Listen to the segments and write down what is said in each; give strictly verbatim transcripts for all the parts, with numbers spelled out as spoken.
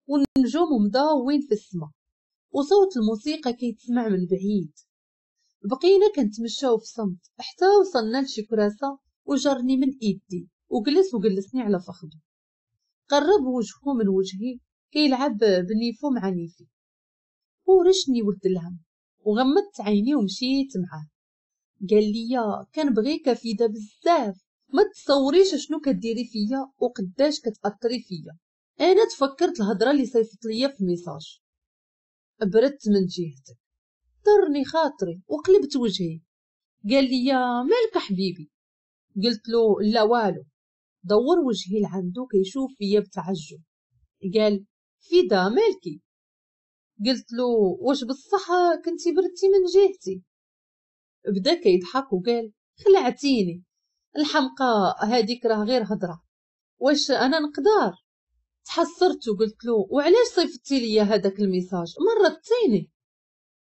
والنجوم مضاوين في السما وصوت الموسيقى كيتسمع من بعيد. بقينا كنتمشاو في صمت حتى وصلنا لشي كراسة وجرني من ايدي وجلس وجلسني على فخده. قرب وجهه من وجهي كيلعب بنيفو مع نيفي ورشني ولد الهم وغمضت عيني ومشيت معاه. قال لي كنبغيك فيدا بزاف، ما تصوريش شنو كديري فيا وقداش كتاثري فيا. انا تفكرت الهضرة اللي صيفط ليا في message، بردت من جهتك، طرني خاطري وقلبت وجهي. قال لي مالك حبيبي؟ قلت له لا والو. دور وجهي لعندو كيشوف فيا بتعجب. قال فيدا مالكي؟ قلت له واش بصح كنتي بردتي من جهتي؟ بدا كيضحك وقال خلعتيني الحمقى هذيك راه غير هضره، واش انا نقدر؟ تحسرت وقلت له وعلاش صيفطتي لي هذاك ال message، مرضتيني.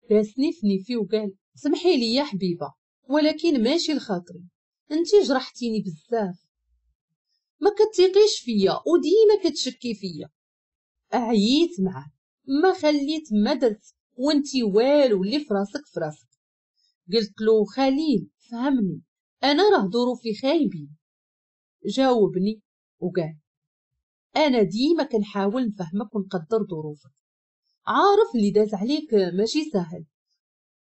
باسني في نيفي وقال سمحي لي يا حبيبه ولكن ماشي لخاطري، انتي جرحتيني بزاف، ما كتيقيش فيا وديما كتشكي فيا. عييت معاك ما خليت ما درت وانتي والو اللي في راسك في راسك. قلت له خليل فهمني انا راه ظروفي خايبين. جاوبني وقال انا ديما كنحاول نفهمك ونقدر ظروفك، عارف اللي داز عليك ماشي سهل،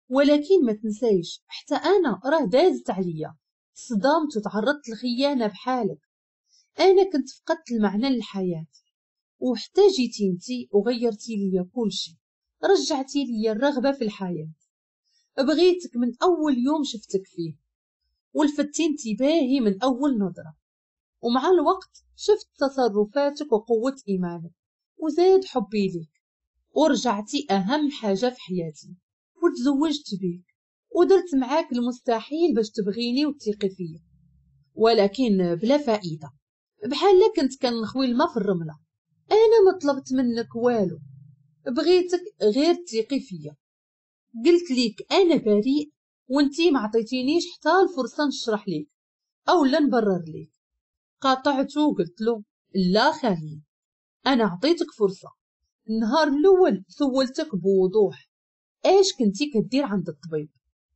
ولكن ما تنسايش حتى انا راه دازت عليا، صدمت وتعرضت للخيانه بحالك، انا كنت فقدت المعنى للحياة وحتى جيتي انتي وغيرتي ليا كلشي، رجعتي ليا الرغبة في الحياة. بغيتك من اول يوم شفتك فيه ولفتي انتباهي من اول نظره، ومع الوقت شفت تصرفاتك وقوه ايمانك وزاد حبي ليك، ورجعتي اهم حاجة في حياتي وتزوجت بيك ودرت معاك المستحيل باش تبغيني وتثقي فيا، ولكن بلا فائدة، بحال كنت كنخوي الماء في الرملة. انا ما طلبت منك والو، بغيتك غير تثقي فيا. قلت ليك انا بريء وانتي ما عطيتينيش حتى الفرصة نشرح ليك او لا نبرر ليك. قاطعته وقلت له لا خليل انا عطيتك فرصة، النهار الاول سولتك بوضوح اش كنتي كدير عند الطبيب،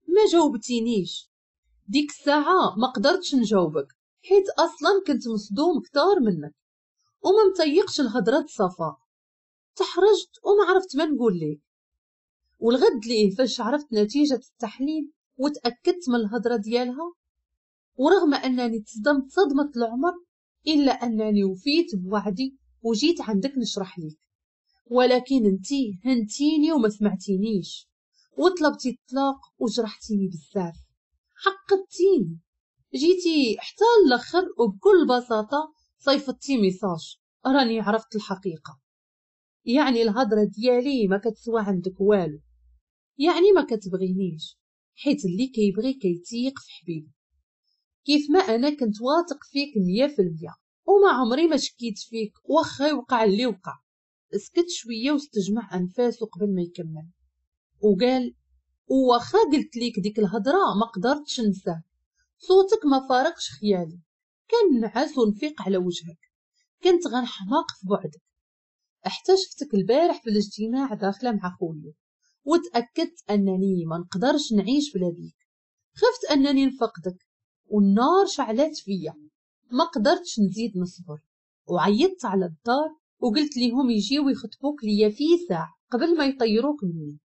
ما جاوبتينيش. ديك الساعة ما قدرتش نجاوبك حيت اصلا كنت مصدوم كتار منك وما مطيقش الهضرة صفاء، تحرجت وما عرفت ما نقول لك. والغد ليه فاش عرفت نتيجة التحليل وتاكدت من الهضرة ديالها، ورغم انني تصدمت صدمة العمر الا انني وفيت بوعدي وجيت عندك نشرح لك، ولكن انتي هنتيني وما سمعتينيش وطلبتي الطلاق وجرحتيني بزاف، حقدتيني، جيتي حتى الاخر وبكل بساطة صيفطتي message راني عرفت الحقيقة. يعني الهضرة ديالي ما كتسوى عندك والو، يعني ما كتبغينيش، حيت اللي كيبغي كيتيق في حبيبه. كيف ما انا كنت واثق فيك مية في المية وما عمري ما شكيت فيك واخا يوقع اللي وقع. سكت شوية واستجمع انفاسه قبل ما يكمل وقال واخا قلت ليك ديك الهضرة ما قدرتش ننساه، صوتك ما فارقش خيالي، كنعس ونفيق على وجهك، كنت غنحماق في بعدك. حتى شفتك البارح في الاجتماع داخله مع خوليو وتاكدت انني ما نقدرش نعيش بلا بيك، خفت انني نفقدك والنار شعلات فيا، ما قدرتش نزيد نصبر وعيطت على الدار وقلت ليهم يجيو يخطبوك ليا في ساعة قبل ما يطيروك مني.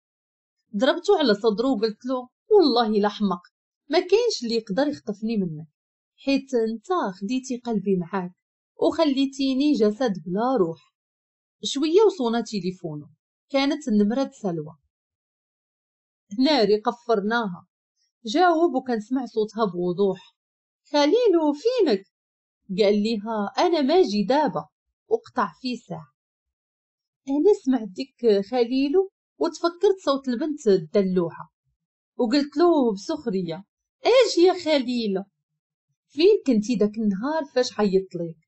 ضربته على صدره وقلت له والله لا حمق، ما كاينش اللي يقدر يخطفني منك، حيت انت خديتي قلبي معاك وخليتيني جسد بلا روح. شوية وصونا تليفونه، كانت النمرة سلوى. ناري قفرناها. جاوب وكنسمع صوتها بوضوح، خليلو فينك؟ قال ليها انا ماجي دابا، وقطع في ساعة. انا سمعت ديك خليلو وتفكرت صوت البنت الدلوعة وقلت له بسخريه اجي يا خليله، فين كنتي داك النهار فاش عيطت ليك؟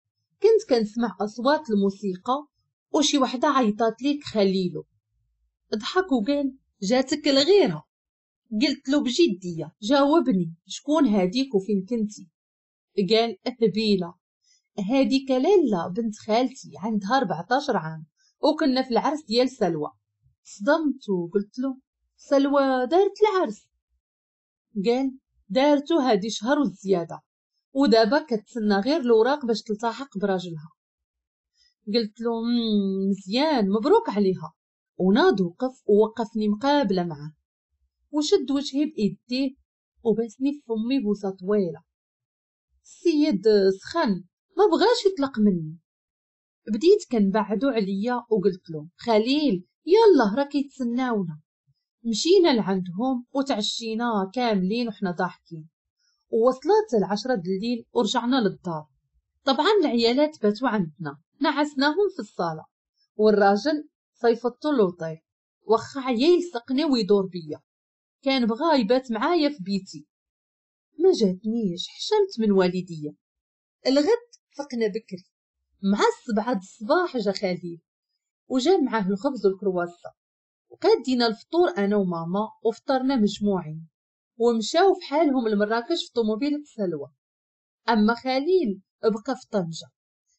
كنت كنسمع اصوات الموسيقى وشي وحده عيطات ليك خليلو. ضحك وقال جاتك الغيرة. قلت له بجدية جاوبني شكون هاديك وفين كنتي؟ قال هبيله، هاديك لاله بنت خالتي عندها أربعطاش عام وكنا في العرس ديال سلوى. صدمت وقلت له سلوى دارت العرس؟ قال دارتو هادي شهر وزيادة، ودابا كتسنى غير الوراق باش تلتحق براجلها. قلت له مزيان، مبروك عليها. وناض وقف ووقفني مقابله معاه، وشد وجهي بايديه وباسني في فمي بوسه طويلة. السيد سخن ما بغاش يطلق مني. بديت كنبعدو عليا وقلت له خليل يلا راه كيتسناونا. مشينا لعندهم وتعشينا كاملين وحنا ضاحكين، ووصلت العشرة الليل ورجعنا للدار. طبعا العيالات باتوا عندنا، نعسناهم في الصالة، والراجل صيفطو لوطيل واخا عيا يلصقني ويدور بيا، كان بغا يبات معايا في بيتي. ما جاتنيش، حشمت من والديا. الغد فقنا بكري مع السبعة الصباح، جا خليل وجا معاه الخبز والكرواسة، وقادينا الفطور انا وماما وفطرنا مجموعين، ومشاو في حالهم لمراكش في طوموبيلة سلوى. اما خليل بقى في طنجة،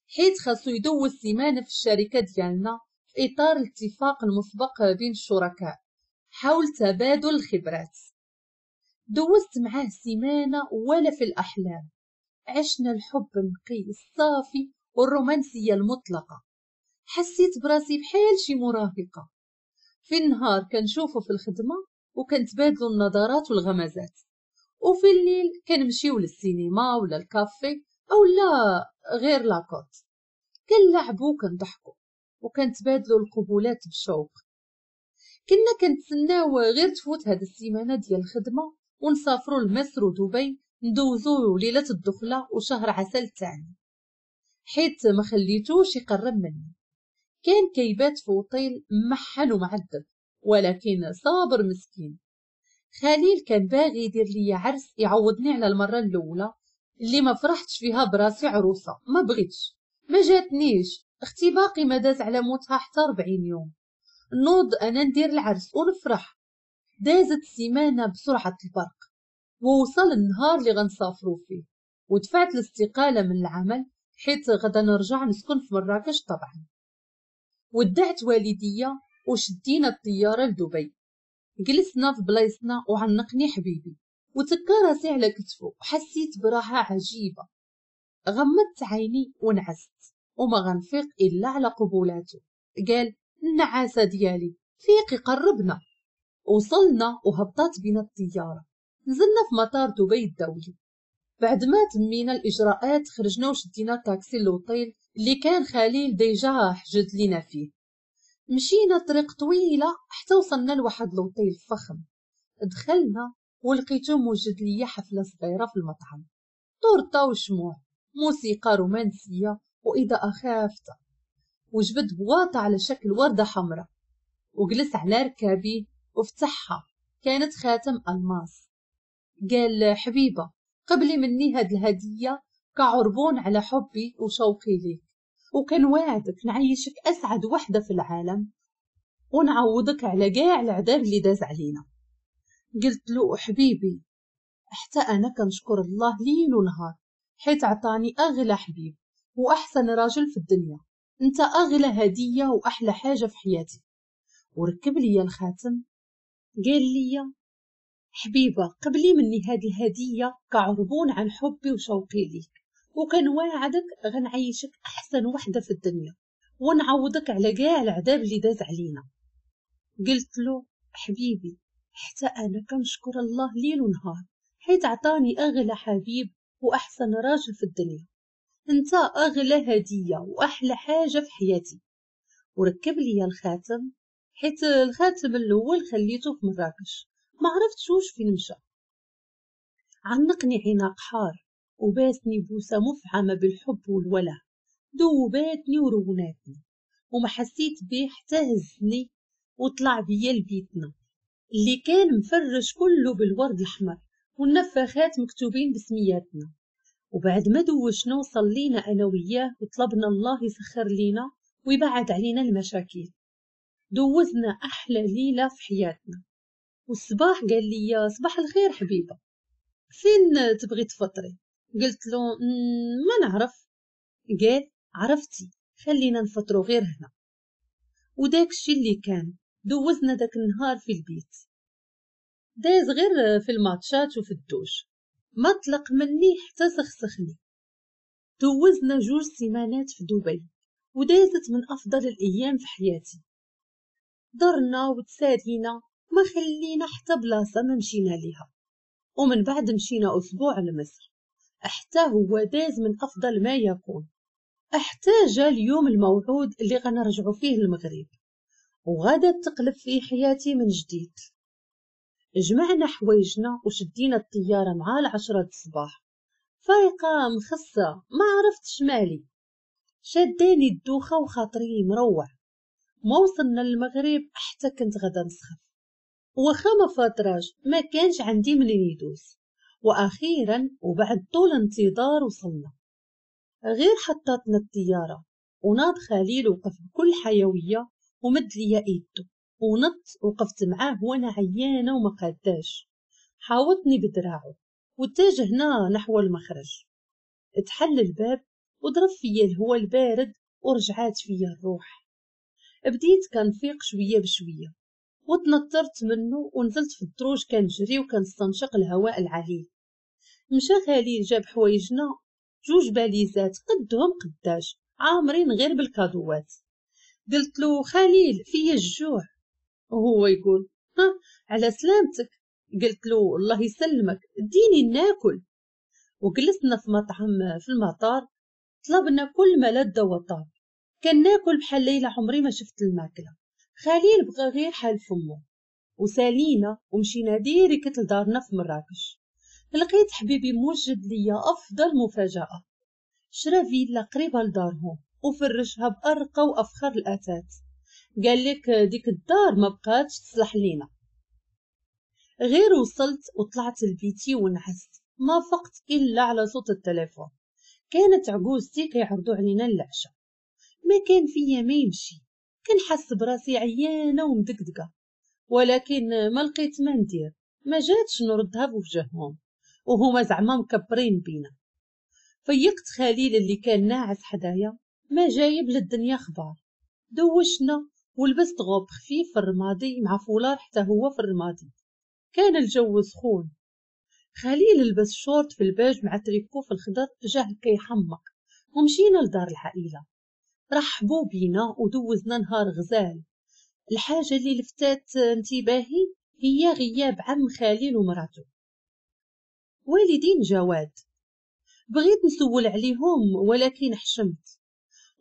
حيت خاصو يدوز سيمانه في الشركة ديالنا في اطار الاتفاق المسبق بين الشركاء حول تبادل الخبرات. دوزت معاه سيمانه ولا في الاحلام، عشنا الحب النقي الصافي والرومانسيه المطلقة. حسيت براسي بحال شي مراهقة. في النهار كنشوفه في الخدمة وكنتبادلوا النظرات والغمزات، وفي الليل كنمشيو للسينما ولا الكافي او لا غير la côte، كنلعبو وكنضحكو وكنتبادلوا القبولات بشوق. كنا كنتسناو غير تفوت هاد السيمانة ديال الخدمة ونسافروا لمصر ودبي ندوزو ليلة الدخلة وشهر عسل تاعنا، حيت ما خليتوش يقرب مني. كان كيبات في اوتيل محن ومعذب، ولكن صابر مسكين. خليل كان باغي يدير لي عرس يعوضني على المرة الاولى اللي ما فرحتش فيها براسي عروسه، ما بغيتش، ما جاتنيش. اختي باقي ما داز على موتها حتى أربعين يوم، نوض انا ندير العرس ونفرح. دازت السيمانة بسرعة البرق، ووصل النهار اللي غنسافروا فيه، ودفعت الاستقالة من العمل حيت غدا نرجع نسكن في مراكش طبعا. ودعت والديا وشدينا الطيارة لدبي. جلسنا في بلايصنا وعنقني حبيبي وتكى راسي على كتفه، وحسيت براحة عجيبة. غمضت عيني ونعست وما غنفيق الا على قبولاته. قال النعاسه ديالي فيقي قربنا. وصلنا وهبطات بنا الطيارة، نزلنا في مطار دبي الدولي. بعد ما تمينا الاجراءات خرجنا وشدينا تاكسي لوطيل اللي كان خليل déjà حجز لينا فيه. مشينا طريق طويلة حتى وصلنا لواحد لوطيل فخم. دخلنا ولقيتو موجد ليا حفلة صغيرة في المطعم، طورطه وشموع، موسيقى رومانسية واضاءة خافته، وجبد بواطه على شكل ورده حمراء وجلس على ركابيه وفتحها، كانت خاتم الماس. قال حبيبه قبلي مني هاد الهدية كعربون على حبي وشوقي ليك، وكان واعدك نعيشك اسعد وحده في العالم ونعوضك على كاع العذاب اللي داز علينا. قلت له حبيبي حتى انا كنشكر الله ليل ونهار حيت عطاني اغلى حبيب واحسن راجل في الدنيا، انت اغلى هديه واحلى حاجة في حياتي. وركب لي الخاتم. قال لي حبيبه قبلي مني هذه الهدية كعربون عن حبي وشوقي ليك، وكان واعدك غنعيشك احسن وحده في الدنيا ونعوضك على كاع العذاب اللي داز علينا. قلت له حبيبي حتى انا كنشكر الله ليل ونهار حيت عطاني اغلى حبيب واحسن راجل في الدنيا، انت اغلى هديه واحلى حاجة في حياتي. وركب لي الخاتم، حيت الخاتم الاول خليته في مراكش ما عرفتش واش فين مشى. عنقني عناق حار وباسني بوسه مفعمه بالحب والوله، دوباتني وروناتني وما حسيت بيه حتى هزني وطلع بيا لبيتنا اللي كان مفرش كله بالورد الاحمر والنفاخات مكتوبين بسمياتنا. وبعد ما دوشنا وصلينا انا وياه وطلبنا الله يسخر لينا ويبعد علينا المشاكل. دوزنا احلى ليلة في حياتنا. والصباح قال لي صباح الخير حبيبه، فين تبغي تفطري؟ قلت له ما نعرف. قال عرفتي خلينا نفطروا غير هنا. وداك الشي اللي كان دوزنا داك النهار في البيت، داز غير في الماتشات وفي الدوش، ما طلق مني حتى سخسخني. دوزنا جوج سيمانات في دبي ودازت من افضل الايام في حياتي. درنا وتسالينا، ما خلينا حتى بلاصة ما مشينا ليها. ومن بعد مشينا اسبوع لمصر، حتى هو داز من افضل ما يكون. حتى جا اليوم الموعود اللي غنرجعو فيه المغرب، وغادا تقلب فيه حياتي من جديد. جمعنا حوايجنا وشدينا الطيارة مع العشرة الصباح، فايقه مخصه ما عرفتش مالي، شداني الدوخه وخاطري مروع. ما وصلنا للمغرب حتى كنت غادا نسخف، واخا ما فاطراش ما كانش عندي منين يدوز. واخيرا وبعد طول انتظار وصلنا. غير حطاتنا الطيارة وناض خليل وقف بكل حيوية ومد ليا ايدو، ونط وقفت معاه وانا عيانه وما قاداش. حاوطني بدراعه واتجهنا نحو المخرج. اتحل الباب وضرب فيا الهواء البارد ورجعات فيا الروح. بديت كنفيق شوية بشوية وتنطرت منه ونزلت في الدروج كنجري وكنستنشق الهواء العليل. مشى خليل جاب حوايجنا، جوج باليزات قدهم قداش عامرين غير بالكادوات. قلت له خليل فيا الجوع، وهو يقول ها على سلامتك. قلت له الله يسلمك اديني ناكل. وجلسنا في مطعم في المطار، طلبنا كل ما لذ وطاب. كان ناكل بحال ليلى عمري ما شفت الماكلة. خليل بغى غير حال فمه. وسالينا ومشينا direct لدارنا في مراكش. لقيت حبيبي موجد ليا افضل مفاجاة، شرا فيلا قريبه لدارهم وفرشها بارقى وافخر الاثاث. قال لك ديك الدار ما بقاتش تصلح لينا. غير وصلت وطلعت لبيتي ونعست، ما فقت الا على صوت التليفون. كانت عجوزتي كيعرضوا علينا العشاء. ما كان فيا ما يمشي، كنحس براسي عيانه ومدقدقه، ولكن ما لقيت ما ندير، ما جاتش نردها بوجههم وهما زعما مكبرين بينا. فيقت خليل اللي كان ناعس حدايا ما جايب للدنيا خبار. دوشنا ولبست غوب خفيف في الرمادي مع فولار حتى هو في الرمادي، كان الجو سخون. خليل لبس شورت في الباج مع تريكو في الخضر جاه كيحمق. ومشينا لدار العائلة، رحبوا بينا ودوزنا نهار غزال. الحاجة اللي لفتات انتباهي هي غياب عم خليل ومراته والدين جواد. بغيت نسول عليهم ولكن حشمت.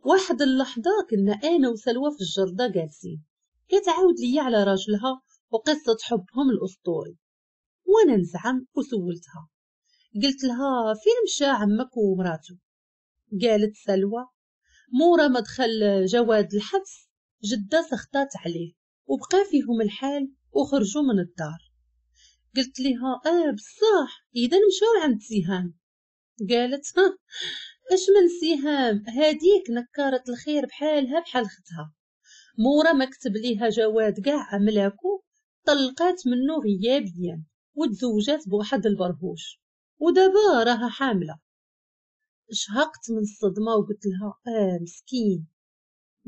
واحد اللحظة كنا انا وسلوى في الجردة جالسين، كتعاود ليا على راجلها وقصة حبهم الاسطوري، وانا نزعم وسولتها. قلت لها فين مشى عمك ومراته؟ قالت سلوى مورا ما دخل جواد الحبس جدة سخطات عليه وبقى فيهم الحال وخرجوا من الدار. قلت لها اه بصح اذا مشاو عند سهام. قالت ها اش من سهام، هاديك نكارة الخير بحالها بحال ختها. مورا ما كتب ليها جواد كاع ملاكو طلقات منه غيابيا وتزوجات بواحد البرهوش ودابا راها حامله. شهقت من الصدمة وقلت لها اه مسكين.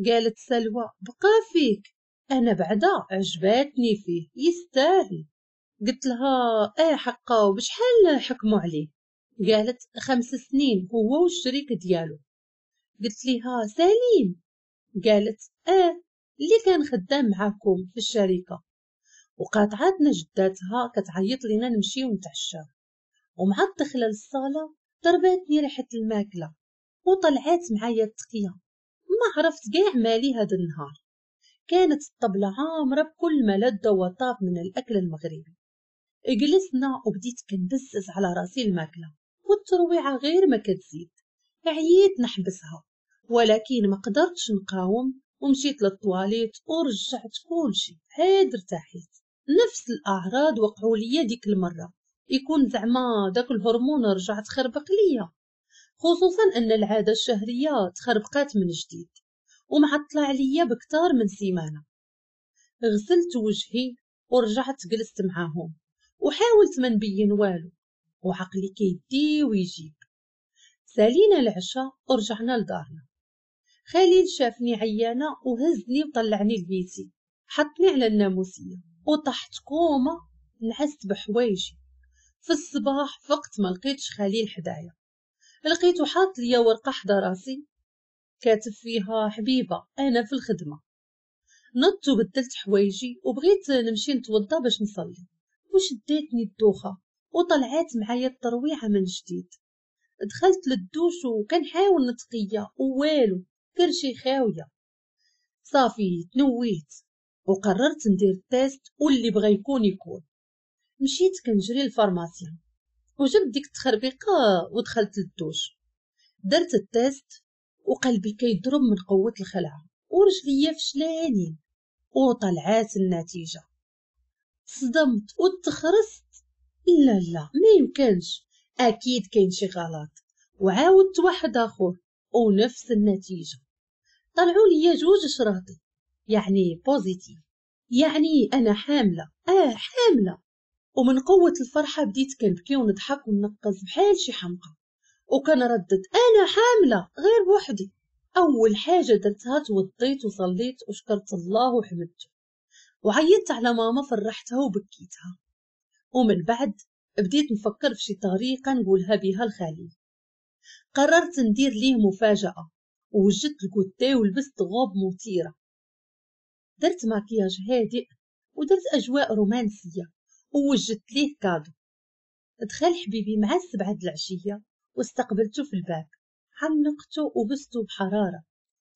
قالت سلوى بقى فيك، انا بعدا عجباتني فيه يستاهل. قلت لها اه حقا وبشحال حكموا عليه؟ قالت خمس سنين هو والشريك ديالو. قلت لها سليم؟ قالت اه اللي كان خدام معاكم في الشركة. وقاطعتنا جداتها كتعيط لينا نمشيو نتعشاو. ومع الدخلة للصاله ضرباتني ريحه الماكلة وطلعات معايا التقيه، ما عرفت كاع مالي هذا النهار. كانت الطبلة عامرة بكل ما لذ وطاب من الاكل المغربي. جلسنا وبديت كنبزز على راسي الماكلة والترويعه غير ما كتزيد. عييت نحبسها ولكن ما قدرتش نقاوم ومشيت للطواليت ورجعت كلشي. عاد ارتاحيت. نفس الاعراض وقعوا ليا ديك المرة، يكون زعما داك الهرمون رجع تخربق ليا، خصوصا ان العادة الشهرية تخربقات من جديد ومعطله عليا بكتار من سيمانه. غسلت وجهي ورجعت جلست معاهم وحاولت ما نبين والو وعقلي كيدي ويجيب. سالينا العشاء ورجعنا لدارنا. خليل شافني عيانه وهزني وطلعني لبيتي، حطني على الناموسيه وطحت كومة، نعست بحوايجي. في الصباح فقت ما لقيتش خليل حدايا، لقيته حاط ليا ورقة حدا راسي كاتب فيها حبيبه انا في الخدمة. نضت وبدلت حوايجي وبغيت نمشي نتوضا باش نصلي، وشدتني الدوخه وطلعات معايا الترويعه من جديد. دخلت للدوش وكنحاول نتقيا ووالو، كرشي خاوية. صافي تنويت وقررت ندير test واللي بغى يكون يكون. مشيت كنجري لل pharmacien وجبت ديك التخربيقه ودخلت للدوش، درت ال test وقلبي كيضرب من قوة الخلعة ورجليا فشلانين، وطلعات النتيجة. صدمت وتخرست، لا لا ما يمكنش، اكيد كاين شي غلط. وعاودت واحد اخر ونفس النتيجة، طلعوا لي جوج شراطي يعني positif، يعني انا حامله. اه حامله. ومن قوة الفرحة بديت كنبكي ونضحك ونقز بحال شي حمقى وكنردد انا حامله غير بوحدي. اول حاجة درتها توضيت وصليت وشكرت الله وحمدته، وعيطت على ماما فرحتها وبكيتها. ومن بعد بديت نفكر في شي طريقه نقولها بها لخليل. قررت ندير ليه مفاجاة، ووجدت ال goûter ولبست غوب مثيرة، درت ماكياج هادئ ودرت اجواء رومانسية ووجدت ليه cadeau. دخل حبيبي مع السبعة د العشية واستقبلته في الباب، عنقته وبسته بحرارة.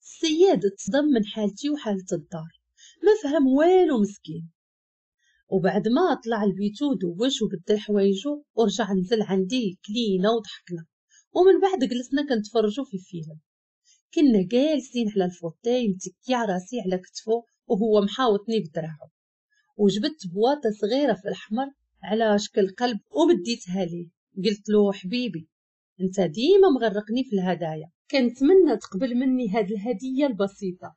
السياد تصدم من حالتي وحاله الدار، ما فهم والو مسكين. وبعد ما طلع لبيتو دوش وبدل حوايجو ورجع نزل عندي، كلينا وضحكنا. ومن بعد جلسنا كنتفرجو في فيلم. كنا جالسين على ال fauteuil متكي راسي على كتفو وهو محاوطني بدراعو، وجبت بواطه صغيرة في الاحمر على شكل قلب ومديتها ليه. قلت له حبيبي انت ديما مغرقني في الهدايا، كنتمنى تقبل مني هاد الهدية البسيطة.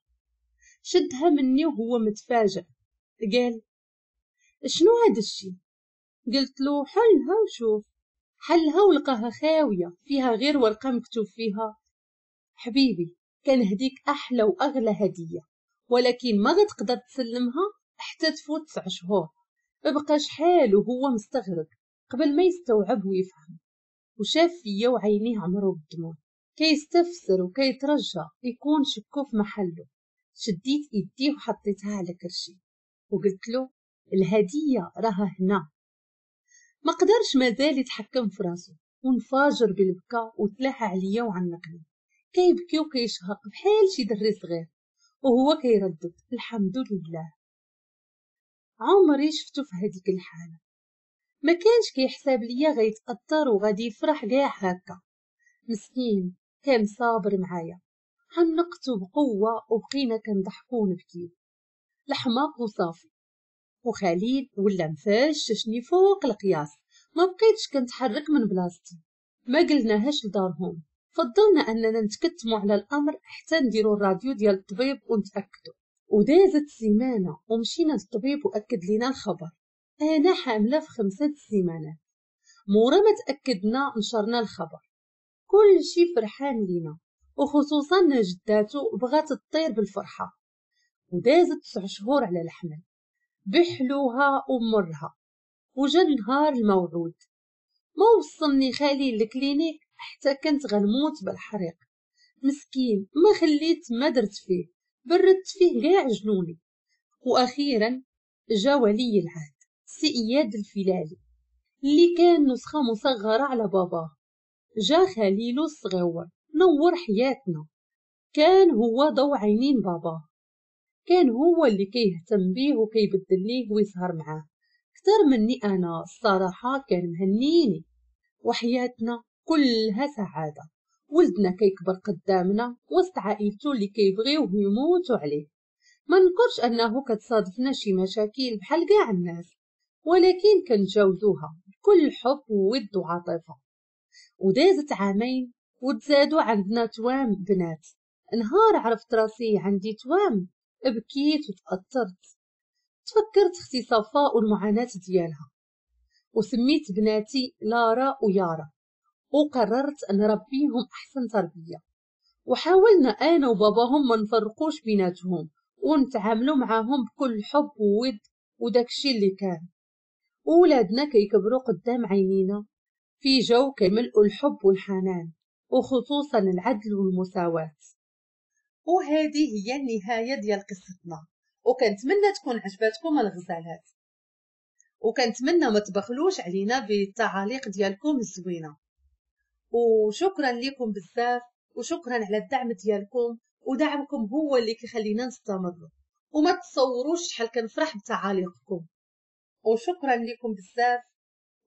شدها مني وهو متفاجئ، قال شنو هاد الشي؟ قلت له حلها وشوف. حلها ولقاها خاوية فيها غير ورقة مكتوب فيها حبيبي كنهديك احلى واغلى هديه، ولكن ما غتقدر تسلمها حتى تفوت تسع شهور. بقى شحال وهو مستغرب قبل ما يستوعب ويفهم، وشاف فيا وعينيه عمرو بالدموع، كيستفسر وكيترجى يكون شكو في محله. شديت ايديه وحطيتها على كرشي وقلت له الهدية راها هنا. ما قدرش مازال يتحكم في راسو وانفجر بالبكا وتلاح عليا وعنقني، كيبكي وكيشهق بحال شي دري صغير وهو كيردد الحمد لله. عمري شفتو في هذيك الحالة، ما كانش كيحساب ليا غيتاثر وغادي يفرح كاع هكا. مسكين كان صابر معايا، عنقته بقوة وبقينا كنضحكو ونبكيو الحماق وصافي. وخليل ولا مفششني فوق القياس، ما بقيتش كنتحرك من بلاصتي. ما قلناهاش لدارهم، فضلنا اننا نتكتموا على الامر حتى نديروا الراديو ديال الطبيب ونتاكدوا. ودازت سيمانه ومشينا للطبيب واكد لينا الخبر، انا حامله في خمسة سيمانات. مورا ما تاكدنا نشرنا الخبر، كل شي فرحان لينا، وخصوصا جداتو بغات تطير بالفرحه. ودازت تسع شهور على الحمل بحلوها ومرها، وجا النهار الموعود. ما وصلني خالي لل clinique حتى كنت غنموت بالحريق. مسكين ما خليت ما درت فيه، بردت فيه كاع جنوني. واخيرا جا ولي العهد سي اياد الفلالي اللي كان نسخه مصغرة على باباه. جا خليلو الصغيور نور حياتنا، كان هو ضو عينين باباه، كان هو اللي كيهتم بيه وكيبدل ليه ويسهر معاه اكثر مني انا. الصراحة كان مهنيني، وحياتنا كلها سعادة. ولدنا كيكبر قدامنا وسط عائلته اللي كيبغيوه ويموتوا عليه. ما ننكرش انه كتصادفنا شي مشاكل بحال كاع الناس، ولكن كنتجاوزوها بكل حب وود وعاطفة. ودازت عامين وتزادوا عندنا توام بنات. نهار عرفت راسي عندي توام بكيت وتأثرت، تفكرت اختي صفاء والمعاناة ديالها، وسميت بناتي لارا ويارا، وقررت نربيهم احسن تربيه. وحاولنا انا وباباهم ما نفرقوش بيناتهم ونتعاملوا معاهم بكل حب وود وداكشي اللي كان. وولادنا كيكبروا قدام عينينا في جو كيملؤوا الحب والحنان، وخصوصا العدل والمساواة. وهذه هي النهاية ديال قصتنا، وكنتمنى تكون عجبتكم الغزالات، وكنتمنى ما تبخلوش علينا بالتعاليق ديالكم الزوينة. وشكرا لكم بزاف، وشكرا على الدعم ديالكم، ودعمكم هو اللي كيخلينا نستمروا، وما تصوروش شحال كنفرح بتعاليقكم. وشكرا لكم بزاف،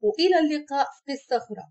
والى اللقاء في قصة اخرى.